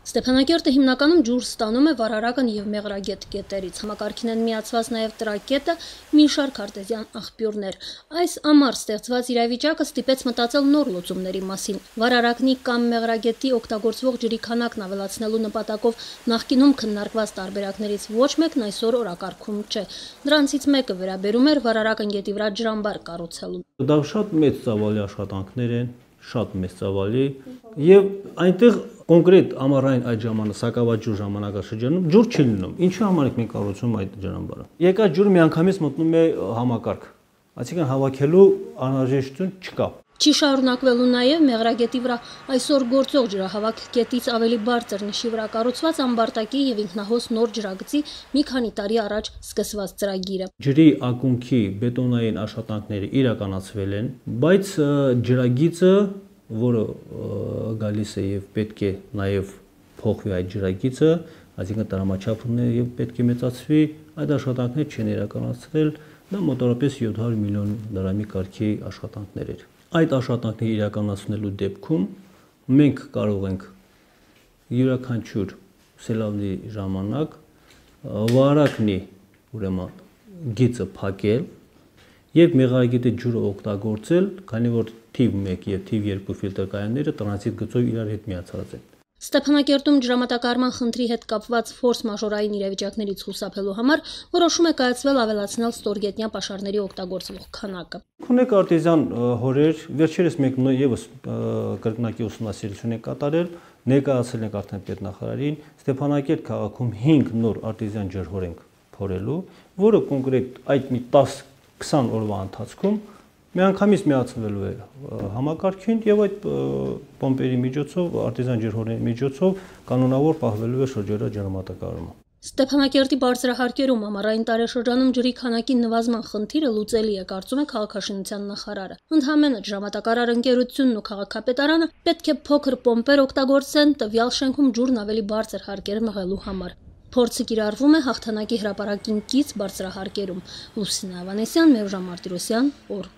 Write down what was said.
Ստեփանակերտը հիմնականում ջուր ստանում է վարարական եւ մեղրագետ կետերից, համակարգին են միացված նաեւ տրակետը, մի շարք արտեզյան աղբյուրներ։ Այս ամառ ստեղծված իրավիճակը ստիպեց մտածել նոր լուծումների մասին։ Վարարակնի կամ մեղրագետի օգտագործվող ջրի քանակն ավելացնելու նպատակով նախկինում քննարկված տարբերակներից ոչ մեկն այսօր օրակարգում չէ։ Դրանցից մեկը վերաբերում էր վարարական գետի վրա ջրամբար կառուցելուն։ Դա շատ մեծ ծավալի աշխատանքներ են, շատ մեծ ծավալի եւ այնտեղ կոնկրետ ամառային այդ սակավաջուր ժամանակաշրջանում ջուր չի լինում։ Ինչի համար ենք մենք կառուցում այդ ջրամբարը։ Եկած ջուրը միանգամից մտնում է համակարգ, այսինքն հավաքելու անհրաժեշտություն չկա։ Չի շարունակվելու նաև մեղրագետի վրա այսօր գործող ջրահավաք կետից ավելի բարձր նշի վրա կառուցված ամբարտակի եւ ինքնահոս նոր ջրագծի մի քանի տարի առաջ սկսված ծրագիրը։ Ջրի ակունքի բետոնային աշխատանքները իրականացվել են, բայց ջրագիծը, որը գալիս է եւ պետք է նաեւ փոխվի այդ ջրագիծը, այսինքն տրամաչափն է եւ պետք է մեծացվի, այդ աշխատանքները չեն իրականացվել, դա մոտավորապես 700 միլիոն դրամի կարգի աշխատանքներ էր։ Այդ աշխատանքները իրականացնելու դեպքում մենք կարող ենք յուրաքանչյուր սելավի ժամանակ վարակնի ուրեմն գիծը փակել եւ մեղրագետի ջուրը օգտագործել, քանի որ թիվ 1 եւ թիվ 2 ֆիլտրկայանները տրանզիտ գծով իրար հետ միացած են։ Ստեփանակերտում ջրամատակարարման խնդրի հետ կապված ֆորս մաժորային իրավիճակներից խուսափելու համար որոշում է կայացվել ավելացնել ստորգետնյա պաշարների օգտագործվող քանակը։ Ունեք արտեզյան հորեր, վերջերս մենք եւս կրկնակի ուսումնասիրություն ենք կատարել, ներկայացել ենք արդեն պետնախարարին, Ստեփանակերտ քաղաքում 5 նոր արտեզյան ջրհոր ենք փորելու, որը կոնկրետ այդ մի 10-20 օրվա ընթացքում միանգամից միացվելու է համակարգին եւ այդ պոմպերի միջոցով, արտեզյան ջրհորների միջոցով կանոնավոր պահվելու է շրջերա ջրամատակարարումը։ Ստեփանակերտի բարձրահարկերում ամառային տարեշրջանում ջրի քանակի նվազման խնդիրը լուծելի է, կարծում է քաղաքաշինության նախարարը։ Ընդհանրապես ջրամատակարար ընկերությունն ու քաղաքապետարանը պետք է փոքր պոմպեր օգտագործեն տվյալ շենքում ջուրն ավելի բարձր հարկեր մղելու համար։ Փորձը կիրառվում է հաղթանակի հրապարակին կից բարձրահարկերում։ Լուսինե Ավանեսյան, Մերժան Մարտիրոսյան, օր։